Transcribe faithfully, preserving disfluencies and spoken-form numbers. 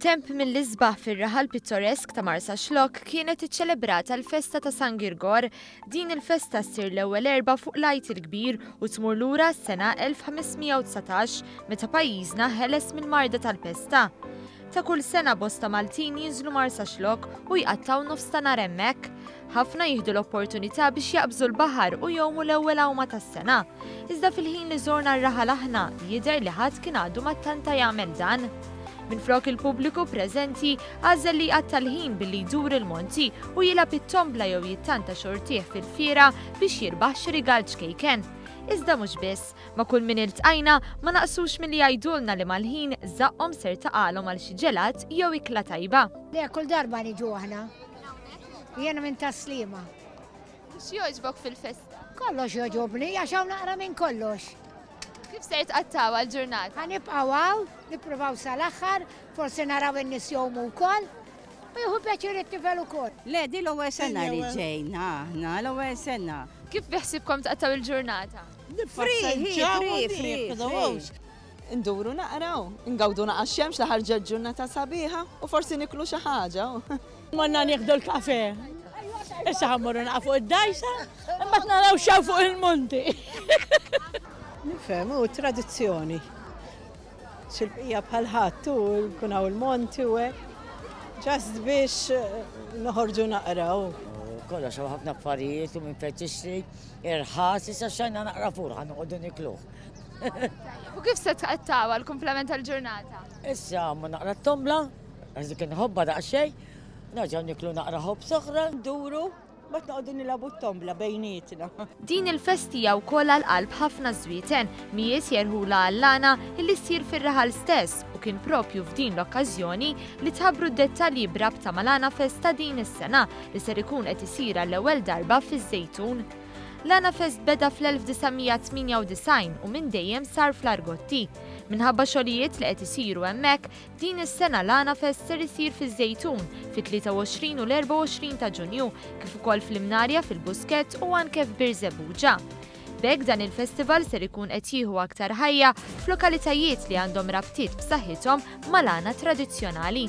F'temp mill-isbaħ fir-raħal pittoresk ta' Marsaxlokk kienet iċċelebrata l-festa ta' San Girgor. Din il-festa ssir l-ewwel Erbgħa fuq l-Għid il-Kbir u tmur lura s-sena elf ħames mija u dsatax, meta pajjiżna ħeles mill-marda tal-pesta. Ta' kull sena bosta Maltin jinżlu Marsaxlokk u jqattaw nofs ta' nhar hemmhekk. Ħafna jieħdu l-opportunità biex jaqbżu l-baħar u jgħumu l-ewwel għawma tas-sena. Iżda fil-ħin li żorna r-raħal aħna, jidher li ħadd kien għadu ma ttanta jagħmel dan. Minflok, il-pubbliku preżenti għażel li jqatta' l-ħin billi jdur il-monti u jilgħab it-tombla jew jittanta xortih fil-fiera biex jirbaħ xi rigal ċkejken. Iżda mhux biss, ma' kull min iltqajna ma naqsux milli jgħidulna li mal-ħin żaqqhom ser taqalhom għal xi ġelat jew ikla tajba. Le, kull darba niġu aħna. Jiena minn Tas-Sliema. X'jogħġbok fil-festa? Kollox jogħġobni, għax hawn naqra minn kollox. Kif ser tqattgħu l-ġurnata? Ħa nibqgħu hawn, nippruvaw sal-aħħar, forsi naraw in-nies jgħumu wkoll. U jieħu pjaċir it-tifel ukoll. Le, di l-ewwel sena li ġejna aħna, l-ewwel sena. Kif biħsibkom tqattgħu il-ġurnata? Free, free, free, free. Nduru naqraw, ngawdu naqa xemx li ħarġet, ġurnata sabiħa, u forsi niklu xi ħaġa. Morna nieħdu l-kafe. Issa ħa mmorru naqa fuq id-dgħajsa, imma naraw x'hawn fuq il-monti. Nifhem, u tradizzjoni. Xil-bqija bħal ħadd u jkun hawn il-monti u hekk. Just biex eh, noħorġu naqraw. Kollox, hawn ħafna affarijiet u minn fejn tixtri irħas, issa xtrajna naqra fur, ħa noqogħdu nikluh. U kif se tqattgħu l-kumplament tal-ġurnata? Issa ma naqra t-tombla, għax dik inħobba daqsxejn, nerġgħu niklu naqra ħobż oħra. Nduru, mbagħad noqogħdu nilagħbu t-tombla bejnietna. Din il-festa hija wkoll għal qalb ħafna Żwieten, mijiet jerħula għall-għana illi ssir fir-raħal stess, u kien propju f'din l-okkażjoni li tħabbru d-dettalji b'rabta mal-Għana Fest ta' din is-sena li ser ikun qed isir għall-ewwel darba fiż-Żejtun. L-Għana Fest beda fl-elf disa' mija tmienja u disgħin u minn dejjem sar fl-Argotti. Minħabba xogħlijiet li qed isiru hemmhekk, din is-sena l-Għana Fest ser isir fiż-Żejtun fit-tlieta u għoxrin u l-erbgħa u għoxrin ta' Ġunju, kif ukoll fl-Imnarja, fil-Buskett u anke f'Birżebbuġa. B'hekk dan il-festival ser ikun qed jieħu aktar ħajja f'lokalitajiet li għandhom rabtiet b'saħħithom mal-għana tradizzjonali.